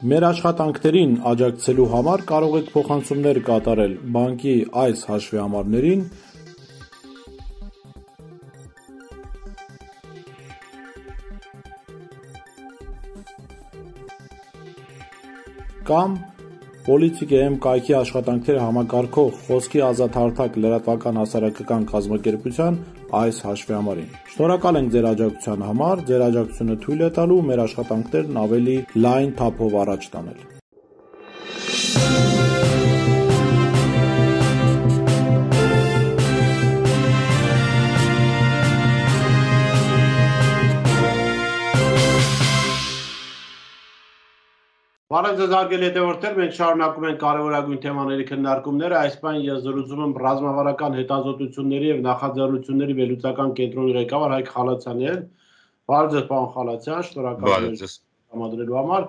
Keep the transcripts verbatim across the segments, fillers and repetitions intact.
Մեր աշխատանքներին աջակցելու համար կարող եք փոխանցումներ կատարել բանկի այս հաշվեհամարներին կամ Politics.am կայքի աշխատանքները համակարգող խոսքի ազատհարթակ լրատվական հասարակական կազմակերպության այս հաշվեհամարին։ Շնորհակալ ենք ձեր աջակցության համար, ձեր աջակցությունը թույլ է տալու մեր աշխատանքներն ավելի լայն թափով առաջ տանել։ Բարև ձեզ հարգելի հետևորդներ, մենք շարունակում ենք կարևորագույն թեմաների քննարկումները, այս բան ես զրուցում եմ ռազմավարական հետազոտությունների եւ նախաձեռնությունների վերլուծական կենտրոնի ղեկավար Հայկ Խալացյանի հետ։ Բարև ձեզ, պարոն Խալացյան, շնորհակալ եմ համադրելու համար։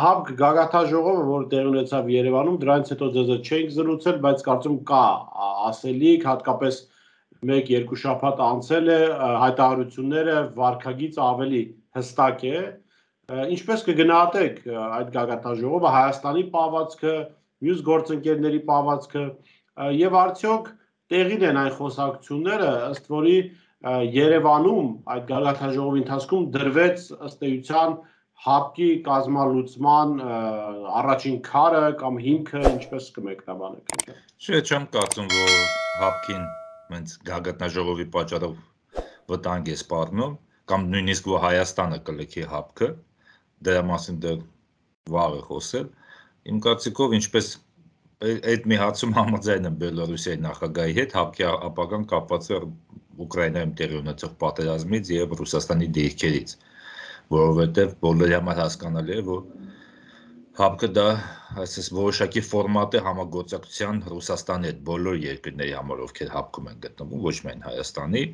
ՀԱԲԿ գագաթնաժողովը, որ տեղի ունեցավ Երևանում, դրանից հետո ձեզ հետ չենք զրուցել, բայց կարծում կա ասելիք, հատկապես մեկ-երկու շաբաթ անցել է, հայտարարությունները վարքագիծը ավելի հստակ է։ Ինչպես կգնահատեք այդ գագաթնաժողովը, Հայաստանի պահվածքը, մյուս գործընկերների պահվածքը եւ արդյոք տեղին են այն խոսակցությունները, ըստ որի Երևանում այդ գագաթնաժողովի ընթացքում դրվեց ըստ էության ՀԱԲԿ-ի կազմալուծման առաջին քարը կամ հիմքը, ինչպես կմեկնաբանեք։ Չէ, չեմ կարծում, որ ՀԱԲԿ-ին հենց գագաթնաժողովի պատճառով վտանգ է սպառնում, կամ նույնիսկ որ Հայաստանը կլքի ՀԱԲԿ-ը, դրա մասին դեռ վաղ է խոսել։ Իմ կարծիքով, ինչպես այդ մի հարցում համաձայն եմ Բելոռուսիայի նախագահի հետ, ՀԱԲԿ-ի ապագան կապված է Ուկրաինայում տեղի ունեցող պատերազմից եւ Ռուսաստանի դիրքերից, որովհետեւ բոլորի համար հասկանալի է, որ ՀԱԲԿ-ը դա այսպես որոշակի ֆորմատ է համագործակցության Ռուսաստանի հետ բոլոր երկրների համար, ովքեր ՀԱԲԿ-ում են գտնվում, ոչ միայն Հայաստանի,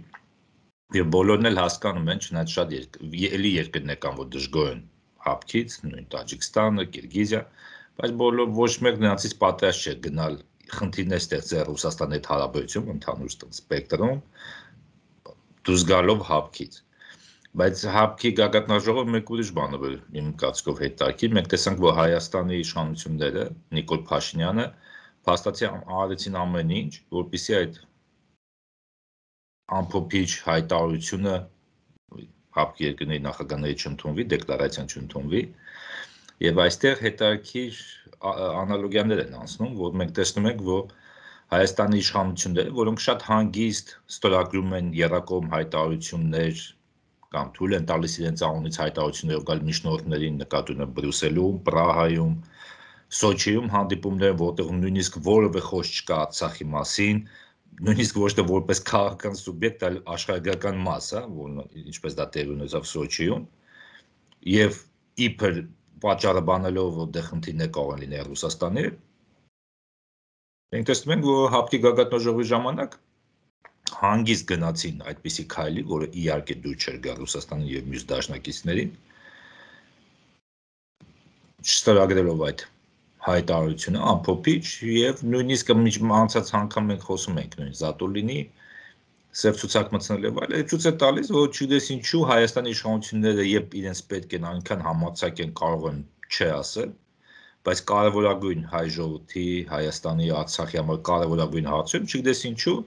եւ բոլորն էլ հասկանում են, չնայած շատ էլի երկրներ կան, որ դժգոհ են ՀԱԲԿ-ից, նույն Տաջիկստանը, Կիրգիզիա, բայց բոլոր ոչ մեկ նրանցից պատրաստ չէ գնալ խնդիրներ ստեղծել Ռուսաստանի հետ հարաբերություն ընդհանուր սպեկտրում, դուրս գալով ՀԱԲԿ-ից։ Բայց ՀԱԲԿ-ի գագաթնաժողովը մեկ ուրիշ բան է, իմ կարծիքով հետաքրքիր, մենք տեսանք, որ Հայաստանի իշխանությունները, Նիկոլ Փաշինյանը փաստացի արեցին ամեն ինչ, որպեսզի այդ ամփոփիչ հայտարարությունը ՀԱԲԿ-ի երկրների նախագահների չընդունվի, դեկլարացիան չընդունվի, եւ այստեղ հետաքրքիր անալոգիաներ են անցնում, որ մենք տեսնում ենք, որ Հայաստանի իշխանությունները, որոնք շատ հանգիստ ստորագրում են եռակողմ հայտարարություններ կամ թույլ են տալիս իրենց անունից հայտարարություններով գալ միջնորդներին, նկատի ունեմ Բրյուսելում, Պրահայում, Սոչիում հանդիպումներ, որտեղ նույնիսկ որևէ խոսք չկա Արցախի մասին, նույնիսկ ոչ թե որպես քաղաքական սուբյեկտ, այլ աշխարհագրական մաս, ինչպես դա տեղի ունեցավ Սոչիում, եւ իբր պատճառը բանելով, որ դե խնդիրներ կարող են լինել Ռուսաստանի հետ։ Մենք տեսնում ենք, որ ՀԱԲԿ-ի գագաթնաժողովի ժամանակ հանգիստ գնացին այդպիսի քայլի, որը իհարկե դուր չէր գա Ռուսաստանի եւ մյուս դաշնակիցներին, չստորագրելով այդ հայտարարությունը ամփոփիչ եւ նույնիսկ անցած անգամ մենք խոսում ենք նույն Զատուլինի սև ցուցակ մտցնել եւ այլ, ցույց է տալիս, որ չգիտես ինչու Հայաստանի իշխանությունները երբ իրենց պետք են այնքան համարձակ են կարող են չէ ասել, բայց կարևորագույն հայ ժողովրդի, Հայաստանի, Արցախի համար կարևորագույն հարցում, չգիտես ինչու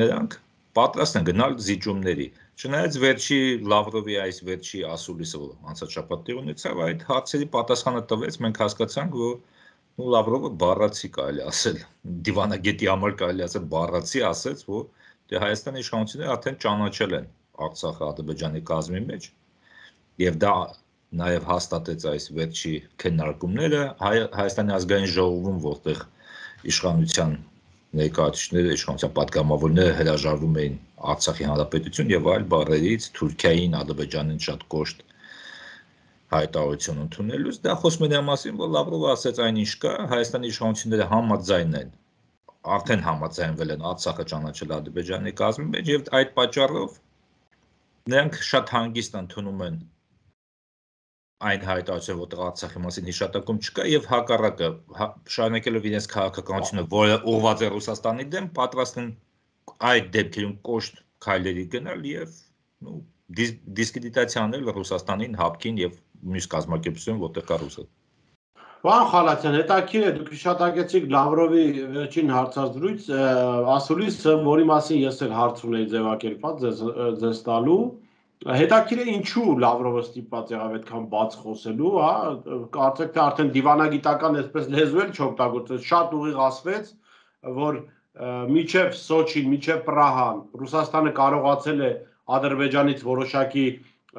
նրանք պատրաստ են գնալ զիջումների։ Չնայած վերջի Լավրովի այս վերջի ասուլիսը, որ անցած շաբաթ տեղ ունեցավ, այդ հարցերի պատասխանը տվեց, մենք հասկացանք, որ Լավրովը բառացի կարելի ասել, դիվանագետի համար կարելի ասել բառացի ասեց, որ դե Հայաստանի իշխանությունները արդեն ճանաչել են Արցախը Ադրբեջանի կազմի մեջ, եւ դա նաեւ հաստատեց այս վերջի քննարկումները Հայաստանի ազգային ժողովում, որտեղ իշխանության ներկայացուցիչները, իշխանության պատգամավորները հրաժարվում էին Արցախի հանրապետություն եւ այլ բառերից, Թուրքիային, Ադրբեջանին շատ կոշտ հայտարարություն ընդունելուց, դա խոսում է դրա մասին, որ Լավրովը ասեց այնինչ կա, Հայաստանի իշխանությունները համաձայն են, արդեն համաձայնվել են Արցախը ճանաչել Ադրբեջանի կազմի մեջ եւ այդ պատճառով նրանք շատ հանգիստ ընդունում են այն հայտարարությունը, որտեղ Արցախի մասին հիշատակում չկա եւ հակառակը շարունակելով իրենց քաղաքականությունը, որը ուղղված է Ռուսաստանի դեմ, պատրաստ են այդ դեպքերում կոշտ քայլերի գնալ եւ դիսկրեդիտացիա անել Ռուսաստանին, ՀԱԲԿ-ին եւ մյուս կազմակերպություն, որտեղ կա ռուսը։ Պարոն Խալաթյան, հետաքրքիր է, դուք հիշատակեցիք Լավրովի վերջին հարցազրույց, ասուլիսը, որի մասին ես էլ հարց ունեի ձևակերպած ձեզ տալու, հետաքրքիր է ինչու Լավրովը ստիպված եղավ այդքան բաց խոսելու, հա, կարծեք թե արդեն դիվանագիտական այսպես լեզու էլ չօգտագործեց, շատ ուղիղ ասվեց, որ միջև Սոչին, միջև Պրահան Ռուսաստանը կարողացել է Ադրբեջանից որոշակի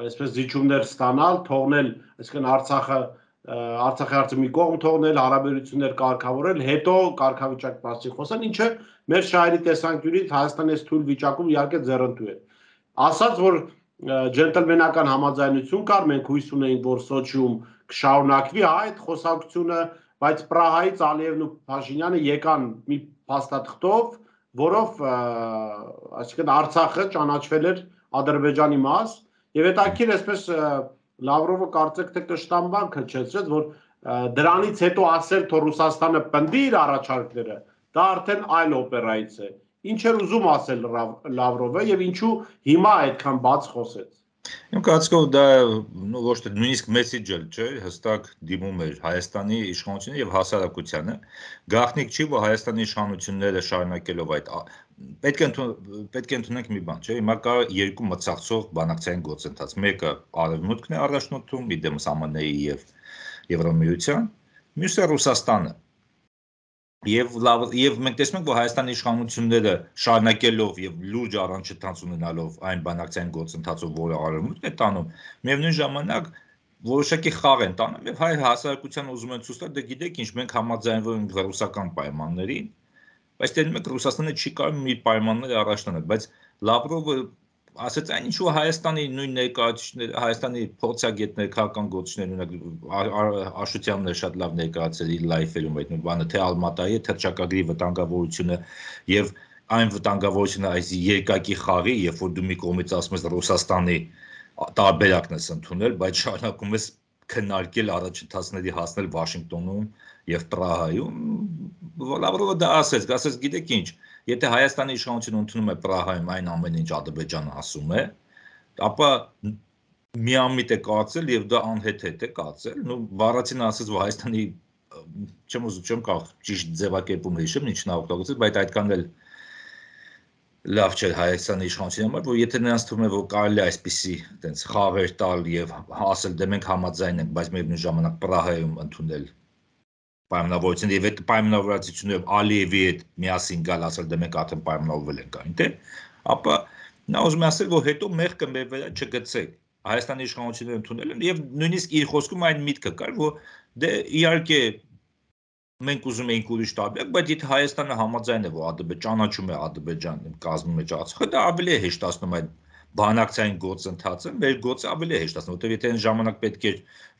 այսպես զիջումներ ստանալ, թողնել, այսինքն Արցախը Արցախի հարցը մի կողմ թողնել, հարաբերություններ կարգավորել, հետո կարգավիճակ մասին խոսել, ինչը մեր շահերի տեսանկյունից Հայաստանի այս թույլ վիճակում իհարկե ձեռնտու է։ Ասած, որ ջենտլմենական համաձայնություն կար, մենք հույս ունեինք, որ Սոչիում կշարունակվի այդ խոսակցությունը, բայց Պրահայից Ալիևն ու Փաշինյանը եկան մի փաստաթղթով, որով այսինքն Արցախը ճանաչվել էր Ադրբեջանի մաս, եւ հետաքրքիր այսպես Լավրովը կարծեք թե կշտամբան քչեցրեց, որ դրանից հետո ասել, թե Ռուսաստանը պնդի իր առաջարկները, դա արդեն այլ օպերայից է։ Ինչ էր ուզում ասել Լավրովը եւ ինչու հիմա այդքան բաց խոսեց։ Իմ կարծիքով դա ոչ թե նույնիսկ մեսեջը չէ, հստակ դիմում էր Հայաստանի իշխանություններին եւ հասարակությանը։ Գաղտնիք չի, որ Հայաստանի իշխանությունները շարունակելով այդ պետք է պետք է ընդունենք մի բան, չէ՞, հիմա կա երկու մցաղցող բանակցային գործընթաց։ Մեկը Արևմուտքն է առաջնորդում, իդեմս Է Մ Ն-ի եւ Եվրամիության, մյուսը Ռուսաստանը։ Եվ եւ մենք տեսնում ենք, որ Հայաստանի իշխանությունները շարունակելով եւ լուրջ առանջթաց ունենալով այն բանակցային գործընթացով, որը Արևմուտքն է տանում, միևնույն ժամանակ որոշակի խաղ են տանում եւ հայ հասարակության ուզում են ցույց տալ, դե գիտեք ինչ, մենք համաձայնվում ենք ռուսական պայմաններին, բայց դեռ մեկ Ռուսաստանը չի կարող մի պայմաններ առաջ տանել, բայց Լավրովը ասեց այն ինչու Հայաստանի նույն ներկայացուցիչները, Հայաստանի փորձագետներ, քաղաքական գործիչներ, օրինակ Աշոտյանն է շատ լավ ներկայացել իր լայֆերում այդ բանը, թե Ալմատայի թռչակագրի վտանգավորությունը եւ այն վտանգավորությունը այս երկակի խաղի, երբ որ դու մի կողմից ասում ես Ռուսաստանի տարբերակն ես ընդունել, բայց շարունակում ես քննարկել առաջընթացների հասնել Վաշինգտոնում եւ Պրահայում, Լավրովը դա ասեց, ասեց գիտեք ինչ, եթե Հայաստանի իշխանությունը ընդունում է Պրահայում այն ամենը, ինչ Ադրբեջանը ասում է, ապա միամիտ է կարծել եւ դա անհեթեթ է կարծել, նո Վարացին ասեց, որ Հայաստանի չեմ ուզում չեմ կարող ճիշտ ձևակերպումը հիշեմ, ինչ նա օգտագործեց, բայց այդքան էլ լավ չէ Հայաստանի իշխանության համար, որ եթե նրանց թվում է, որ կարելի է այսպիսի այտենց խաղեր տալ եւ ասել դե մենք համաձայն ենք, բայց միևնույն ժամանակ Պրահայում ընդունել պայմանավորվածություն եւ այդ պայմանավորվածությունները Ալիևի հետ միասին գալ ասել դե մենք արդեն պայմանավորվել ենք այնտեղ, ապա նա ուզում է ասել, որ հետո մեղքը մեր վրա չգցեք։ Հայաստանի իշխանությունները ընդունել են եւ նույնիսկ իր խոսքում այն միտքը կար, որ դե իհարկե մենք ուզում էինք ուրիշ տարբերակ, բայց եթե Հայաստանը համաձայն է, որ Ադրբեջանը ճանաչում է Ադրբեջանի կազմի մեջ Արցախը, դա ավելի է հեշտացնում այդ բանակցային գործընթացը, մեր գործը ավելի է հեշտացնում, որտեղ եթե այն ժամանակ պետք է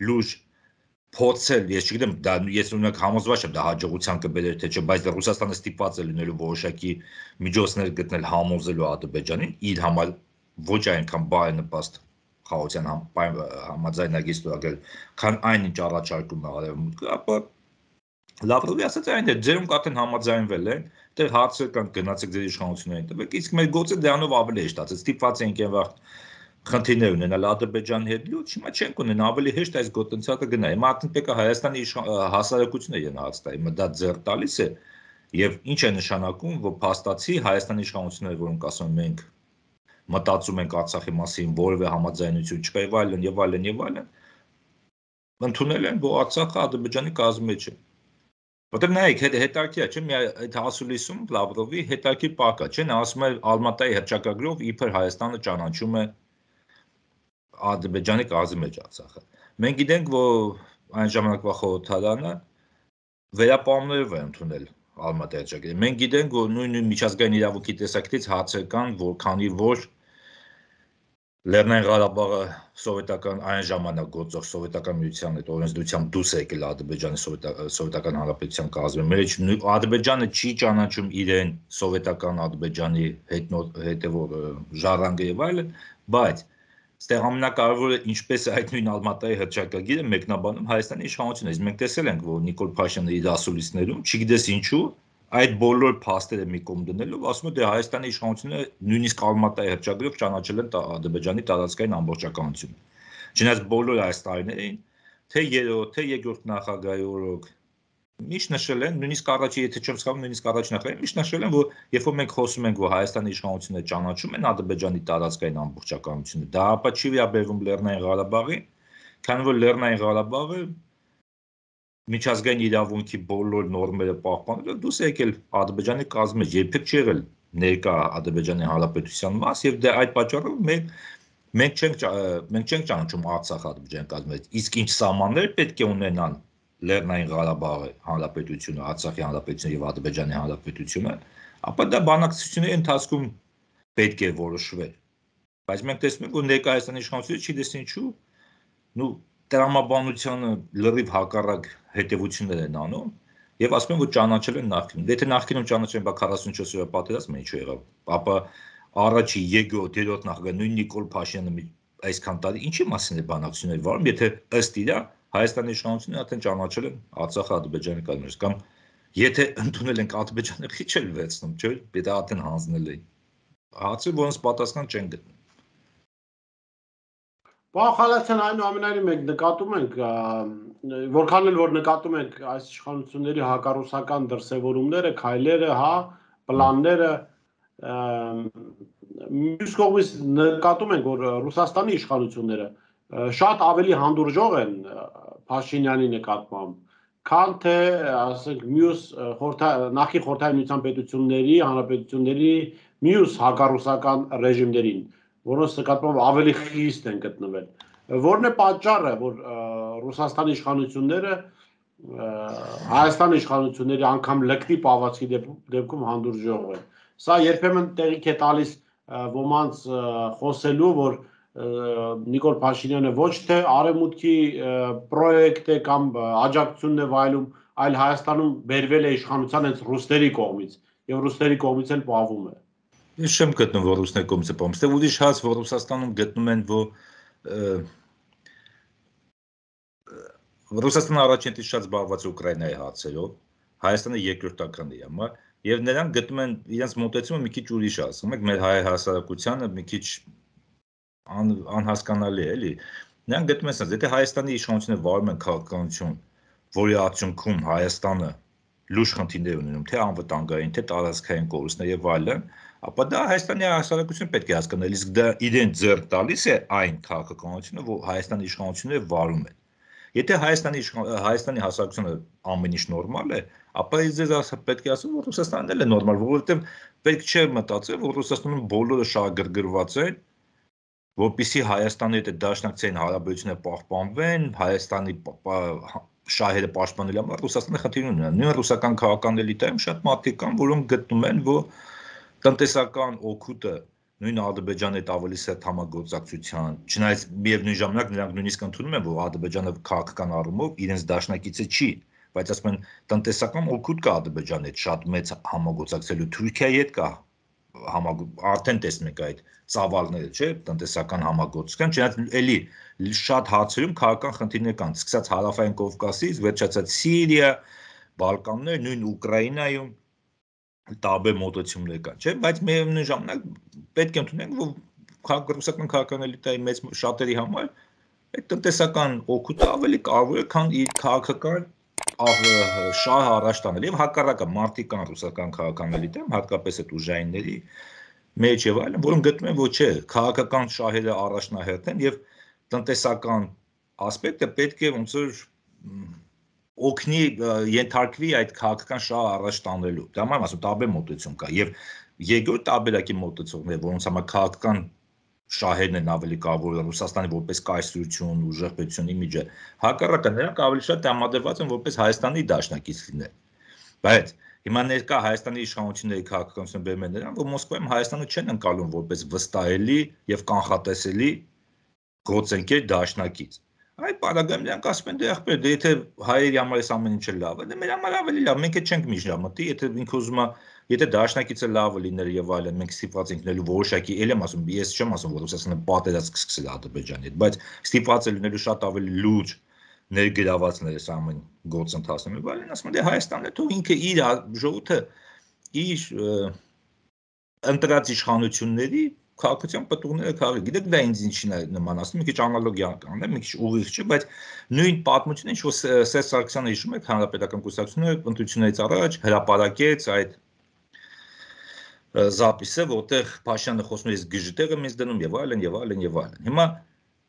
լուրջ փորձել, ես չգիտեմ, դա ես ունենք համոզված եմ, դա հաջողության կբերեր թե չէ, բայց Ռուսաստանը ստիպված է լինելու որոշակի միջոցներ գտնել համոզելու Ադրբեջանին, իր համար ոչ այնքան բարենպաստ խաղաղության համաձայնագիր ստորագրել, քան այն ինչ առաջարկում է Արևմուտքը, ապա Լավրովի ասած այն է, ձերոնք արդեն համաձայնվել են, դեռ հարցեր կան գնացեք ձեր իշխանություններին տվեք, իսկ մեր գործը դրանով ավելի հեշտացեց, ստիպված ենք եւ խնդիրներ ունենալ Ադրբեջանի հետ լուրջ, հիմա չենք ունենա ավելի հեշտ այս գործընթացը գնա։ Հիմա արդեն պետք է Հայաստանի հասարակությունը իրեն հարց տա, հիմա դա ձեռ տալիս է եւ ինչ է նշանակում, որ փաստացի Հայաստանի իշխանությունները, որոնք ասում են մենք մտածում ենք Արցախի մասին, որևէ համաձայնություն չկա եւ այլն եւ այլն եւ այլն, ընդունել են, որ Արցախը Ադրբեջանի կազմի մեջ է։ Որտեղ նայեք, հետաքրքիր է, չէ՞, մի այդ հասուլիսում Լավրովի հետաքրքիր պակա, չէ՞, նա ասում է Ալմատայի հռչակագրով իբր Հայաստանը ճանաչում է Ադրբեջանի կազմի մեջ Արցախը։ Մենք գիտենք, որ այն ժամանակվա խորհրդարանը վերապահումներով է ընդունել Ալմատայի հռչակագրը։ Մենք գիտենք, որ նույն միջազգային իրավունքի տեսակետից հարցեր կան, որ քանի որ Լեռնային Ղարաբաղը սովետական այն ժամանակ գործող սովետական միության այդ օրենսդրությամբ դուրս է եկել Ադրբեջանի սովետական հանրապետության կազմի մեջ, Ադրբեջանը չի ճանաչում իրեն սովետական Ադրբեջանի հետևող ժառանգը եւ այլն, բայց այստեղ ամենակարևորը ինչպես է այդ նույն Ալմատայի հռչակագիրը մեկնաբանում Հայաստանի իշխանությունը։ Իսկ մենք տեսել ենք, որ Նիկոլ Փաշինյանը իր ասուլիսներում, չգիտես ինչու, այդ բոլոր փաստերը մի կողմ դնելով ասում է դե Հայաստանի իշխանությունները նույնիսկ Ալմատայի հռչակագրով ճանաչել են Ադրբեջանի տարածքային ամբողջականությունը։ Չնայած բոլոր այս տարիներին, թե երրորդ, թե երկրորդ նախագահի օրոք միշտ նշել են, նույնիսկ առաջի, եթե չեմ սխալվում, նույնիսկ առաջ նախագահի միշտ նշել են, որ երբ որ մենք խոսում ենք, որ Հայաստանի իշխանությունը ճանաչում են Ադրբեջանի տարածքային ամբողջականությունը, դա ապա չի վերաբերվում Լեռնային Ղարաբաղին, քանի որ Լեռնային Ղարաբաղը միջազգային իրավունքի բոլոր նորմերը պահպանելով դուս եկել Ադրբեջանի կազմի մեջ, երբեք չի եղել ներկա Ադրբեջանի Հանրապետության մաս եւ դե այդ պատճառով մենք մենք չենք մենք չենք ճանաչում Արցախ Ադրբեջանի կազմի մեջ, իսկ ինչ սահմաններ պետք է ունենան Լեռնային Ղարաբաղի Հանրապետությունը, Արցախի Հանրապետությունը եւ Ադրբեջանի Հանրապետությունը, ապա դա բանակցությունների ընթացքում պետք է որոշվեր։ Բայց մենք տեսնում ենք, որ ներկա Հայաստանի իշխանությունը չի դեսին ինչու, նու տրամաբանությանը լրիվ հակառակ հետևություններ են անում եւ ասում են, որ ճանաչել են նախկինում։ Եթե նախկինում ճանաչել են, բա քառասունչորս օրյա պատերազմը ինչու եղավ։ Ապա առաջի երկրորդ, երրորդ նախագահ նույն Նիկոլ Փաշինյանը այսքան տարի ինչի մասին է բանակցություններ վարում, եթե ըստ իրա Հայաստանի իշխանությունը արդեն ճանաչել են Արցախը Ադրբեջանի կազմից, կամ եթե ընդունել ենք Ադրբեջանը քիչ էլ վերցնում, չէ՞, դա արդեն հանձնել է։ Հարցը ոնց պատասխան չեն գտնում։ Պարոն Խալացյան, այնուամենայնիվ մենք նկատում ենք, որքան էլ որ նկատում ենք այս իշխանությունների հակառուսական դրսևորումները, քայլերը, հա, պլանները, մյուս կողմից նկատում ենք, որ Ռուսաստանի իշխանությունները շատ ավելի հանդուրժող են Փաշինյանի նկատմամբ, քան թե, ասենք, մյուս նախկին Խորհրդային Միության պետությունների, հանրապետությունների մյուս հակառուսական ռեժիմներին, որոնց նկատմամբ ավելի խիստ են գտնվել։ Որն է պատճառը, որ Ռուսաստանի իշխանությունները Հայաստանի իշխանությունների անգամ լկտի պահվածքի դեպքում հանդուրժող են։ Սա երբեմն տեղիք է տալիս ոմանց խոսելու, որ Նիկոլ Փաշինյանը ոչ թե արևմուտքի պրոյեկտ է կամ աջակցությունն է վայելում, այլ Հայաստանում բերվել է իշխանության հենց ռուսների կողմից եւ ռուսների կողմից էլ պահվում է։ Ես չեմ գտնում, որ ռուսների կողմից է պահվում, այստեղ ուրիշ հարց, որ Ռուսաստանում գտնում են, որ Ռուսաստանը առաջին տից շատ զբաղված է Ուկրաինայի հարցերով, Հայաստանը երկրորդական է համար, եւ նրանք գտնում են իրենց մոտեցումը մի քիչ ուրիշ, ասում եք, մեր հայ հասարակությանը մի քիչ անհասկանալի է, էլի։ Նրանք գտնում են ասած, եթե Հայաստանի իշխանությունը վարում են քաղաքականություն, որի արդյունքում Հայաստանը լուրջ խնդիրներ ունենում, թե անվտանգային, թե տարածքային կորուստներ եւ այլն, ապա դա Հայաստանի հասարակությունը պետք է հասկանալ, իսկ դա իրեն ձեռք տալիս է այն քաղաքականությունը, որ Հայաստանի իշխանությունները վարում են։ Եթե Հայաստանի Հայաստանի հասարակությունը ամեն ինչ նորմալ է, ապա ես պետք է ասեմ, որ Ռուսաստանն էլ է նորմալ, որովհետեւ պետք չէ մտածել, որ Ռուսաստանում բոլորը շահագրգռված են, որպեսզի Հայաստանի հետ դաշնակցային հարաբերությունները պահպանվեն, Հայաստանի շահերը պաշտպանել համար Ռուսաստանը խնդիր ունի։ Նույն ռուսական քաղաքական էլիտայում շատ մարդիկ կան, որոնք գտնում են, որ տնտեսական օգուտը նույն Ադրբեջանի հետ ավելի սերտ համագործակցության, չնայած միևնույն ժամանակ նրանք նույնիսկ ընդունում են, որ Ադրբեջանը քաղաքական առումով իրենց դաշնակիցը չի, բայց ասում են տնտեսական օգուտ կա Ադրբեջանի հետ շատ մեծ համագործակցելու, Թուրքիայի հետ կա արդեն տեսնում եք այդ ծավալները, չէ, տնտեսական համագործակցության, չնայած էլի շատ հարցերում քաղաքական խնդիրներ կան, սկսած Հարավային Կովկասից, վերջացած Սիրիա, Բալկաններ, նույն Ուկրաինայում տարբեր մոտեցումներ կան, չէ, բայց միևնույն ժամանակ պետք է ընդունենք, որ ռուսական քաղաքական էլիտայի մեծ շատերի համար այդ տնտեսական օգուտը ավելի կարևոր է, քան իր քաղաքական շահը առաջ տանել եւ հակառակը մարդիկ կան ռուսական քաղաքական էլիտայում, հատկապես այդ ուժայինների մեջ եւ այլն, որոնք գտնում են, որ չէ, քաղաքական շահերը առաջնահերթ են եւ տնտեսական ասպեկտը պետք է ոնց որ օգնի ենթարկվի այդ քաղաքական շահը առաջ տանելու։ Դա համար ասում տարբեր մոտեցում կա եւ երկրորդ տարբերակի մոտեցումներ, որոնց համար քաղաքական շահերն են ավելի կարևոր, Ռուսաստանի որպես կայսրություն, ուժեղ պետություն իմիջը, հակառակը նրանք ավելի շատ համադրված են որպես Հայաստանի դաշնակից լինել։ Բայց հիմա ներկա Հայաստանի իշխանությունների քաղաքականությունը բերում են նրան, որ Մոսկվայում Հայաստանը չեն ընկալում որպես վստահելի եւ կանխատեսելի գործընկեր դաշնակից։ Այդ պարագայում նրանք ասում են, դե ախպեր, դե եթե հայերի համար էս ամեն ինչը լավ է, դե մեր համար ավելի լավ, մենք էլ չենք միջնա մտի, եթե ինքը ուզում է, եթե դաշնակիցը լավը լիներ եւ այլն, մենք ստիպված ենք լինելու որոշակի, ել եմ ասում, ես չեմ ասում, որ Ռուսաստանը պատերազմ կսկսել Ադրբեջանի հետ, բայց ստիպված է լինելու շատ ավելի լուրջ ներգրավվածներ այս ամեն գործընթացում եւ այլն, ասում են, դե Հայաստանն է, թող ինքը իր ժողովուրդը իր ընտրած իշխանությունների քաղաքացիական պտուղները քաղի։ Գիտեք դա ինձ ինչին է նմանացնում, մի քիչ անալոգիա կանեմ, մի քիչ ուղիղ չէ, բայց նույն պատմությունը, ինչ որ Սերժ Սարգսյանը հիշում եք, հանրապետական կուսակցությունը ընտրություններից առաջ հրապարակեց այդ զապիսը, որտեղ Փաշինյանը խոսում է գժտեղը մեզ դնում եւ այլն եւ այլն եւ այլն։ Հիմա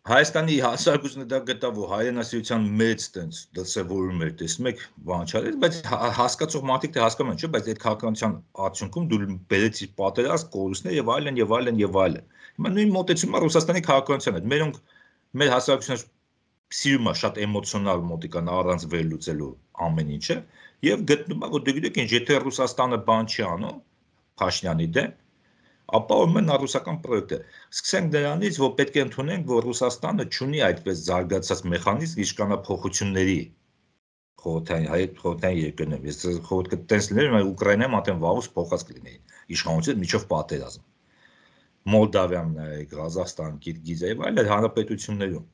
Հայաստանի հասարակությունը դա գտավ, որ հայրենասիրության մեծ տենց դրսևորում էր, տեսնում եք, բան չարեց, բայց հասկացող մարդիկ թե հասկանում են, չէ, բայց այդ քաղաքականության արդյունքում դու բերեցիր պատերազմ, կորուստներ եւ այլն եւ այլն եւ այլն։ Հիմա նույն մոտեցումը Ռուսաստանի քաղաքականության հետ։ Մերոնք մեր հասարակությունը սիրում է շատ էմոցիոնալ մոտիկան առանց վերլուծելու ամեն ինչը եւ գտնում է, որ դու գիտեք, ինչ եթե Ռուսաստանը բան չի անում Փաշինյանի դեմ, ապա ուրեմն ռուսական պրոյեկտ է։ Սկսենք դրանից, որ պետք է ընդունենք, որ Ռուսաստանը չունի այդպես զարգացած մեխանիզմ իշխանափոխությունների խորհրդային հայ խորհրդային երկրներում։ Ես խորհուրդ կտենց լիներ, որ Ուկրաինայում արդեն վաղուց փոխած կլինեին իշխանությունը միջով պատերազմ։ Մոլդավիան, Ղազախստան, Կիրգիզիա եւ այլ հանրապետություններում։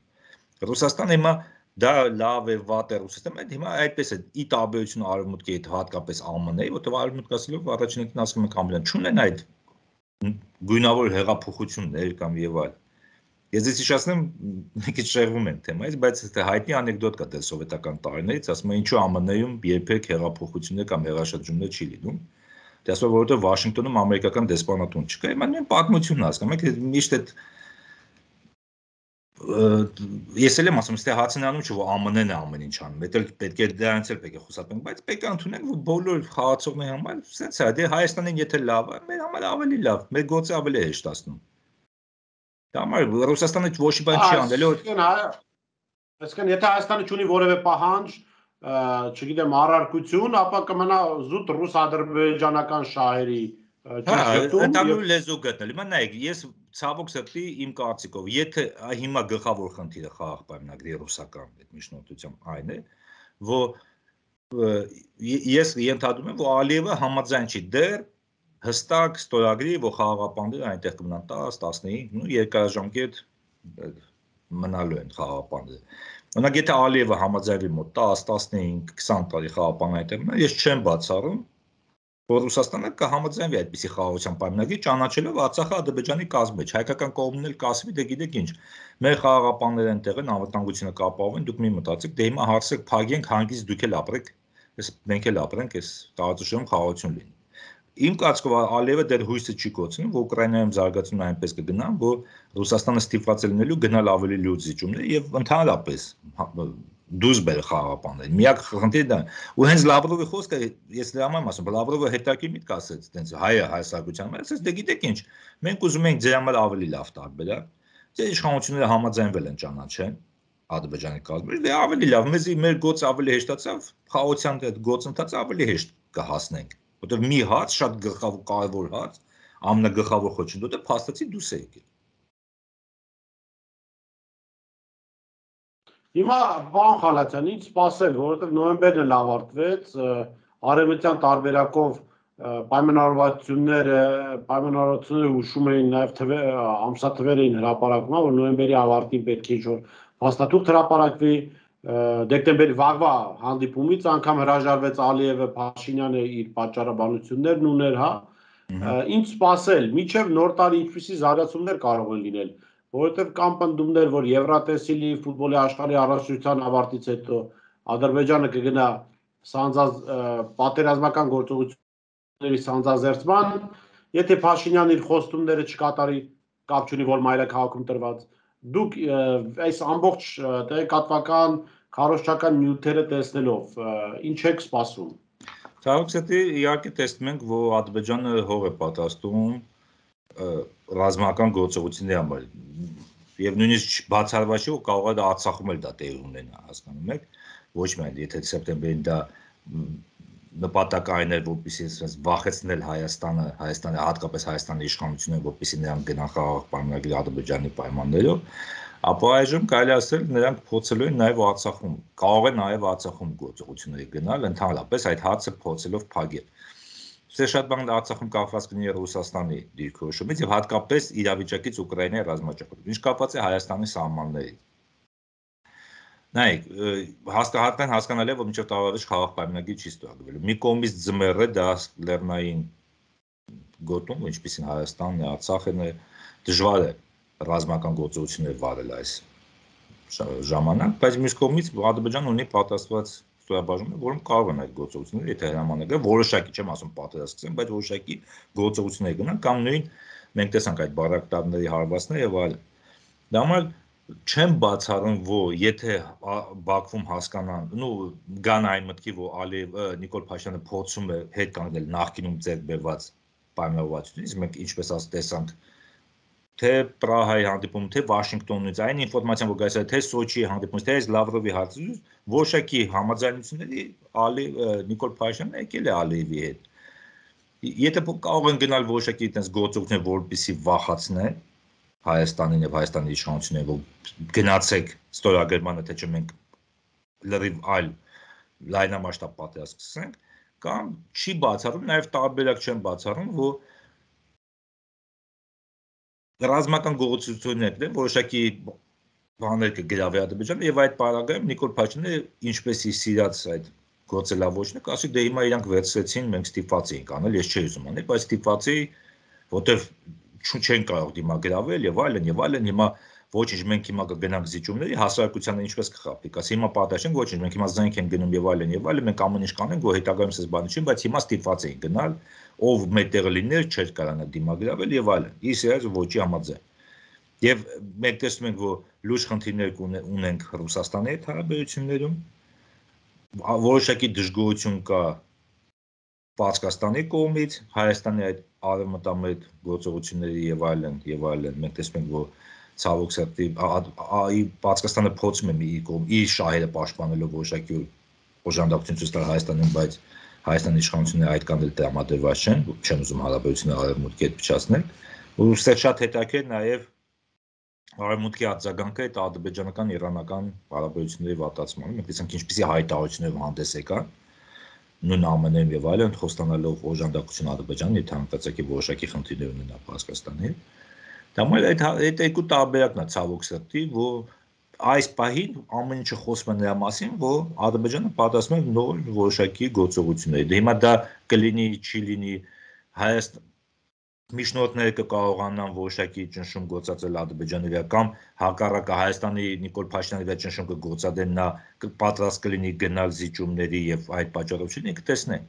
Ռուսաստանը հիմա դա լավ է, վատ է Ռուսաստանը, հիմա այդպես է ի տարբերություն արևմուտքի հետ հատկապես Α M N-ի, որտեղ արևմուտքը ասելով առաջին ասում ենք ամենը չունեն այդ գույնավոր հեղափոխություններ կամ եւ այլ։ Ես ես հիշեցնեմ, մի քիչ շեղվում ենք թեմայից, բայց հայտնի անեկդոտ կա դե սովետական տարիներից, ասում են ինչու Α M N-ում երբեք հեղափոխություններ կամ հեղաշրջումներ չի լինում։ Դա ասում է, որովհետեւ Վաշինգտոնում ամերիկական դեսպանատուն չկա, հիմա նույն պատմությունն հասկանում եք, միշտ այդ ես էլ եմ ասում, ստե հացնանում չէ, որ Α M N-ն է ամեն ինչ անում, դա պետք է դրանից էլ պետք է խոսափենք, բայց պետք է ընդունենք, որ բոլոր խաղացողների համար սենց է, դե Հայաստանին եթե լավ է, մեր համար ավելի լավ, մեր գործը ավելի հեշտացնում։ Դա համար Ռուսաստանը ոչ մի բան չի անելու։ Այսինքն, եթե Հայաստանը չունի որևէ պահանջ, չգիտեմ, առարկություն, ապա կմնա զուտ ռուս-ադրբեջանական շահերի Ընդհանուր լեզու գտնել։ Հիմա նայեք, ես ցավոք սրտի իմ կարծիքով, եթե հիմա գլխավոր խնդիրը խաղաղ պայմանագրի ռուսական այդ միջնորդությամբ այն է, որ ես ենթադրում եմ, որ Ալիևը համաձայն չի դեռ հստակ ստորագրի, որ խաղաղապանները այնտեղ կմնան տասը, տասնհինգ, ու երկարաժամկետ մնալու են խաղաղապանները։ Օրինակ, եթե Ալիևը համաձայնվի մոտ տասը, տասնհինգ, քսան տարի խաղաղապան այնտեղ մնա, ես չեմ բացառում, որ Ռուսաստանը կհամաձայնվի այդպիսի խաղաղության պայմանագրի, ճանաչելով Արցախը Ադրբեջանի կազմի մեջ, հայկական կողմն էլ կասվի, դե գիտեք ինչ, մեր խաղաղապանները այնտեղ են, անվտանգությունը կապահովեն, դուք մի մտածեք, դե հիմա հարցը փակենք, հանգիստ դուք էլ ապրեք, մենք էլ ապրենք, այս տարածաշրջանում խաղաղություն լինի։ Իմ կարծիքով Ալիևը դեռ հույսը չի կոչնում, որ Ուկրաինայում զարգացումն այնպես կգնան, որ Ռուսաստանը ստիպված է լինելու գնալ ավելի լուրջ զիջումներ եւ ընդհանրապես դուրս բերել խաղաղապաններին։ Միակ խնդիրը դա ու հենց Լավրովի խոսքը ես դրա համար եմ ասում, Լավրովը հետաքրքիր միտք ասեց, տենց հայը հայսակության մեջ, ասեց դե գիտեք ինչ, մենք ուզում ենք ձեր համար ավելի լավ տարբերակ, ձեր իշխանությունները համաձայնվել են ճանաչեն Ադրբեջանի կազմի, դե ավելի լավ, մեզ մեր գործը ավելի հեշտացավ, խաղաղության այդ գործընթացը ավելի հեշտ կհասնենք, որտեղ մի հաց շատ գլխավոր կարևոր հաց, ամենագլխավոր խոչընդոտը փաստացի դուրս է եկել։ Հիմա բան Խալացյան, ինչ սպասել, որովհետև նոյեմբերն էլ ավարտվեց, արևմտյան տարբերակով պայմանավորվածությունները, պայմանավորվածությունները հուշում էին նաև ամսաթվեր էին հրապարակվում, որ նոյեմբերի ավարտին պետք է ինչ-որ փաստաթուղթ հրապարակվի, դեկտեմբերի վաղվա հանդիպումից անգամ հրաժարվեց Ալիևը, Փաշինյանը իր պատճառաբանություններն ուներ, հա։ Ինչ սպասել, մինչև նոր տարի ինչպիսի զարգացումներ կարող են լինել, որովհետև կան պնդումներ, որ Եվրատեսիլի ֆուտբոլի աշխարհի առաջնության ավարտից հետո Ադրբեջանը կգնա պատերազմական գործողությունների սանձազերծման, եթե Փաշինյանը իր խոստումները չկատարի, կապ չունի, որ մայրաքաղաքում տրված, դուք այս ամբողջ տեղեկատվական, քարոզչական նյութերը տեսնելով, ինչ եք սպասում։ Ցավոք սրտի իհարկե տեսնում ենք, որ Ադրբեջանը հող է պատրաստում ռազմական գործողությունների համար եւ նույնիսկ բացառված չէ, որ կարող է Արցախում էլ դա տեղի ունենա, հասկանում եք, ոչ միայն եթե սեպտեմբերին դա նպատակային էր, որպեսզի ասես վախեցնել Հայաստանը, Հայաստանը հատկապես Հայաստանի իշխանությունը, որպեսզի նրանք գնան խաղաղ պայմանագրի Ադրբեջանի պայմաններով, ապա այժմ կարելի ասել նրանք փորձելու են նաև Արցախում, կարող է նաև Արցախում գործողությունների գնալ, ընդհանրապես այդ հարցը փորձելով փակել։ Սա շատ բան Արցախում կապված կլինի Ռուսաստանի դիրքորոշումից եւ հատկապես իրավիճակից Ուկրաինայի ռազմաճակատում, ինչ կապված է Հայաստանի սահմանների։ Նայեք, հաստատեն հասկանալի է, որ մինչև տարավերջը խաղաղ պայմանագրի չի ստորագրվելու։ Մի կողմից ձմեռը դա լեռնային գոտում, ինչպիսին Հայաստանն է, Արցախն է, դժվար է ռազմական գործողություններ վարել այս ժամանակ, բայց մյուս կողմից Ադրբեջանը ունի պատրաստված ստորաբաժանումներ, որոնք կարող են այդ գործողությունները, եթե հրամանագրել, որոշակի չեմ ասում պատրաստվեն, բայց որոշակի գործողություններ գնան կամ նույն մենք տեսանք այդ բարակտարների հարվածները եւ այլն։ Դա համար չեմ բացառում, որ եթե Բաքվում հասկանան, նու գան այն մտքի, որ Ալիև Նիկոլ Փաշինյանը փորձում է հետ կանգնել նախկինում ձեռք բերված պայմանավորվածությունից, մենք ինչպես ասած տեսանք, թե Պրահայի հանդիպում, թե Վաշինգտոնից, այն ինֆորմացիան, որ գայս է, թե Սոչիի հանդիպումից, թե Լավրովի հարցից, որոշակի համաձայնությունների Ալի Նիկոլ Փաշինյանը եկել է Ալիևի հետ։ Եթե կարող են գնալ որոշակի այդպես գործողություններ, որպեսզի վախացնեն Հայաստանին եւ Հայաստանի իշխանություններին, որ գնացեք ստորագրմանը, թե չէ մենք լրիվ այլ լայնամասշտաբ պատերազմ սկսենք, կամ չի բացառում, նաեւ տարբերակ չեն բացառում, որ ռազմական գործողություններն են, որոշակի բաներ կգրավի Ադրբեջանը եւ այդ պարագայում Նիկոլ Փաշինյանը ինչպես իր սիրած այդ գործելավոճն է, ասի դե հիմա իրանք վերցրեցին, մենք ստիպված էինք անել, ես չէի ուզում անել, բայց ստիպված էի, որտեվ չեն կարող դիմագրավել եւ այլն եւ այլն հիմա ոչինչ մենք հիմա կգնանք զիջումների հասարակությանը ինչպես կխաբի ասի հիմա պատաշեն ոչինչ մենք հիմա զենք են գնում եւ այլն եւ այլն մենք ամեն ինչ կանենք որ հետագայում ցես բանը չի բայց հիմա ստիպված էին գնալ ով մետեղը լիներ չէր կարողանա դիմագրավել եւ այլն իսկ այս ոչի համաձայն եւ մենք տեսնում ենք որ լուրջ խնդիրներ ունենք Ռուսաստանի հետ հարաբերություններում որոշակի դժգոհություն կա Պարսկաստանի կողմից Հայաստանի այդ արևմտամետ գործողությունների եւ այլն եւ այլն մենք տեսնում ենք որ ցավոք սրտի ի Պարսկաստանը փորձում է մի կողմ իր շահերը պաշտպանելով որոշակի օժանդակություն ցույց տալ Հայաստանին բայց Հայաստանի իշխանությունները այդ կան դրամատուրգված չեն չեն ուզում հարաբերությունները արևմուտքի հետ փչացնել ու շատ հետաքրքիր նաեւ արևմուտքի արձագանքը այդ ադրբեջանական իրանական հարաբերությունների վատացմանը մենք տեսանք ինչպեսի հայտարարություններ հանդես եկան նույն ամենայն եւ այլն խոստանալով օժանդակություն Ադրբեջանի եթե հանկարծակի որոշակի խնդիրներ ունենա Պարսկաստանի դա մայր այդ այդ երկու տարբերակն է ցավոք սրտի որ այս պահին ամեն ինչը խոսում է նրա մասին որ Ադրբեջանը պատասխանում է նոր որոշակի գործողությունների դե հիմա դա կլինի չի լինի Հայաստան Միջնորդները կկարողանան որոշակի ճնշում գործածել Ադրբեջանի վրա կամ հակառակը Հայաստանի Նիկոլ Փաշինյանի վրա ճնշում կգործադրեն նա պատրաստ կլինի գնալ զիջումների եւ այդ պատճառությունները կտեսնենք։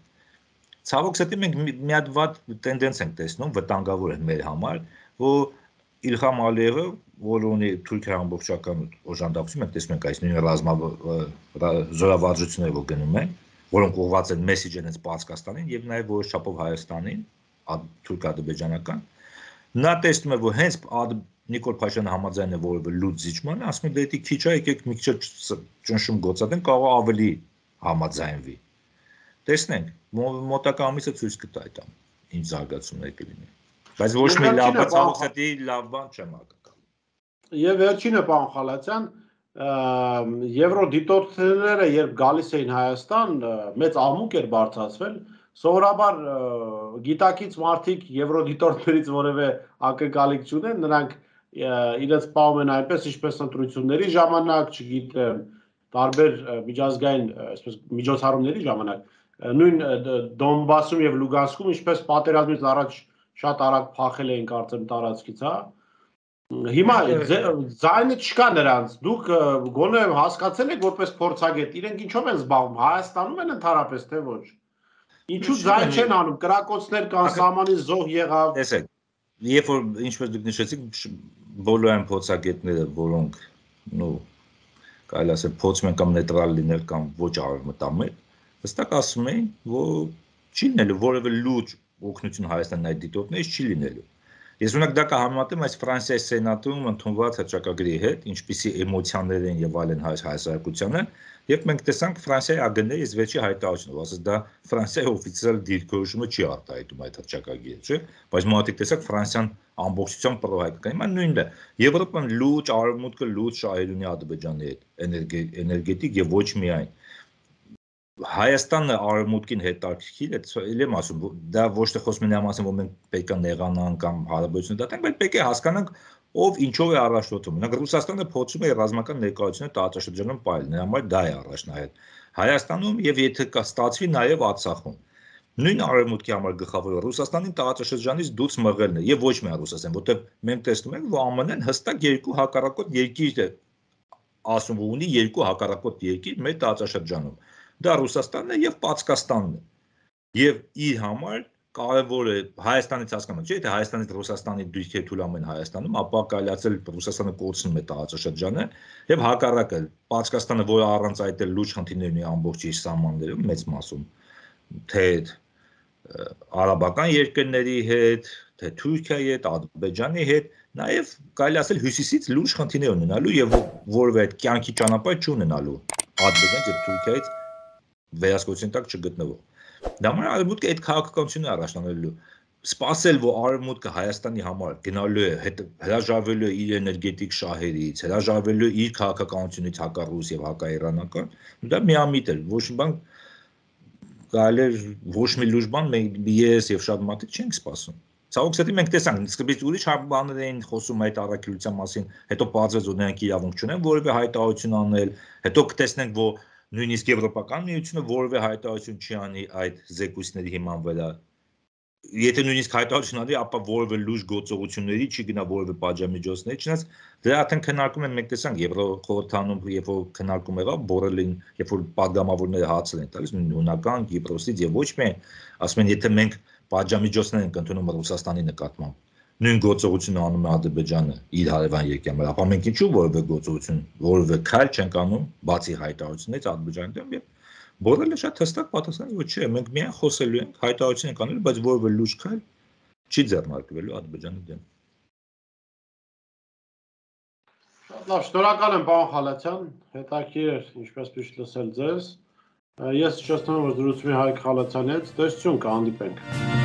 Ցավոք սրտի մենք մի հատ վատ տենդենս ենք տեսնում, վտանգավոր է մեր համար, որ Իլհամ Ալիևը, որ ունի Թուրքիա ամբողջական օժանդակություն, մենք տեսնում ենք այս նույն զորավարժությունները, որ գնում են, որոնք ուղղված են մեսիջերից Պարսկաստանին եւ նաեւ որոշ չափով Հայաստանին թուրք-ադրբեջանական նա տեսնում է որ հենց Նիկոլ Փաշինյանը համաձայն է որևէ լուծ զիջման ասում է դե քիչ է եկեք մի քիչ ճնշում գործադրեն կարող ավելի համաձայնվի տեսնենք մոտակա ամիսը ցույց կտա այդ ինչ զարգացումներ կլինի բայց ոչ մի լավ բան ցավոք սրտի լավ բան չեմ ակնկալում եւ վերջինը պարոն Խալացյան եվրոդիտորդները երբ գալիս էին Հայաստան մեծ աղմուկ էր բարձրացվել Սովորաբար գիտակից մարդիկ եվրոդիտորդներից որևէ ակնկալիք չունեն, նրանք իրենց պահում են այնպես, ինչպես ընտրությունների ժամանակ, չգիտեմ, տարբեր միջազգային, այսպես միջոցառումների ժամանակ, նույն Դոնբասում եւ Լուգանսկում, ինչպես պատերազմից առաջ շատ արագ փախել էին կարծեմ տարածքից, հա։ Հիմա ձայնը չկա նրանց, դուք գոնե հասկացել եք որպես փորձագետ, իրենք ինչով են զբաղվում, Հայաստանում են ընդհանրապես թե ոչ։ Ինչու ձայն չեն անում, կրակոցներ կան, սահմանից զոհ եղավ։ Տեսեք, երբ որ ինչպես դուք նշեցիք, բոլոր այն փորձագետները, որոնք, նո, կարելի ասել փորձում են կամ նեյտրալ լինել կամ ոչ արևմտամետ, հստակ ասում են, որ չի լինելու որևէ լուրջ օգնություն Հայաստանին այդ դիտորդներից չի լինելու։ Ես ունակ դա կհամեմատեմ այս Ֆրանսիայի սենատում ընդունված հռչակագրի հետ, ինչպիսի էմոցիաներ են եւ այլն հայ-հասարակությանը, եւ մենք տեսանք Ֆրանսիայի ագնների այս վերջի հայտարարությունը, ասես դա Ֆրանսիայի օֆիցիալ դիրքորոշումը չի արտահայտում այդ հռչակագրի, չէ՞, բայց մարդիկ տեսակ Ֆրանսիան ամբողջությամբ պրոհայտական։ Հիմա նույնն է։ Եվրոպան լուրջ արևմուտքը լուրջ շահեր ունի Ադրբեջանի հետ, էներգետիկ եւ ոչ միայն։ Հայաստանը արևմուտքին հետաքրքիր է, ել եմ ասում, դա ոչ թե խոսում են մասին, որ մենք պետք է նեղանանք կամ հարաբերություն դատենք, բայց պետք է հասկանանք, ով ինչով է առաջնորդվում։ Օրինակ Ռուսաստանը փորձում է ռազմական ներկայությունը տարածաշրջանում պայել, նրա համար դա է առաջնահերթ։ Հայաստանում եւ եթե կա ստացվի նաեւ Արցախում։ Նույն արևմուտքի համար գլխավորը Ռուսաստանի տարածաշրջանից դուրս մղելն է եւ ոչ միայն Ռուսաստան, որտեղ մենք տեսնում ենք, որ ԱՄՆ-ն հստակ երկու հակառակորդ երկիր է ասում, որ ունի երկու հակառակորդ երկիր մեր տարածաշրջանում։ Դա Ռուսաստանն է եւ Պարսկաստանն է։ Եվ իր համար կարևոր է Հայաստանից հասկանալ, չէ՞, թե Հայաստանից Ռուսաստանի դիրքերը թույլատրում են Հայաստանում, ապա կարելացել Ռուսաստանը կորցնում է տարածաշրջանը եւ հակառակը Պարսկաստանը, որը առանց այդ էլ լուրջ խնդիրներ ունի ամբողջ իր սահմաններում մեծ մասում, թե արաբական երկրների հետ, թե Թուրքիայի հետ, Ադրբեջանի հետ, նաեւ կարելի ասել հյուսիսից լուրջ խնդիրներ ունենալու եւ որևէ այդ կյանքի ճանապարհ չունենալու Ադրբեջանից եւ Թուրքիայից վերահսկողության տակ չգտնվող։ Դա համար արևմուտքը այդ քաղաքականությունը առաջանալու սպասել, որ արևմուտքը Հայաստանի համար գնալու է հրաժարվելու է իր էներգետիկ շահերից, հրաժարվելու է իր քաղաքականությունից հակառուս եւ հակաիրանական, դա միամիտ է, ոչ մի բան կարելի է ոչ մի լուրջ բան մենք ես եւ շատ մարդիկ չենք սպասում։ Ցավոք սրտի մենք տեսանք, սկզբից ուրիշ բաներ էին խոսում այդ առաքելության մասին, հետո բացվեց, որ նրանք իրավունք չունեն որևէ հայտարարություն անել, հետո կտեսնենք, որ նույնիսկ Եվրոպական միությունը որևէ հայտարարություն չի անի այդ զեկույցների հիման վրա։ Եթե նույնիսկ հայտարարություն անի, ապա որևէ լուրջ գործողությունների չի գնա որևէ պատժամիջոցների, չնայած դրա արդեն քննարկում են, մենք տեսանք Եվրոխորհրդանում, երբ որ քննարկում եղավ, Բորելին, երբ որ падգամավորները հացել են տալիս, հունական, Կիպրոսից եւ ոչ միայն, ասում են, եթե մենք պատժամիջոցներ ենք ընդունում Ռուսաստանի նկատմամբ, նույն գործողությունը անում է Ադրբեջանը իր հարևան երկրի, ապա մենք ինչու որևէ գործողություն, որևէ քայլ չենք անում, բացի հայտարարություններից Ադրբեջանի դեմ եւ Բորելը շատ հստակ պատասխանեց, որ չէ, մենք միայն խոսելու ենք, հայտարարություն ենք անելու, բայց որևէ լուրջ քայլ չի ձեռնարկվելու Ադրբեջանի դեմ։ Շատ լավ, շնորհակալ եմ պարոն Խալաթյան, հետաքրքիր էր ինչպես միշտ լսել ձեզ։ Ես շնորհակալ եմ, որ զրուցում եք Հայկ Խալաթյանի հետ, տեսություն կհանդիպենք։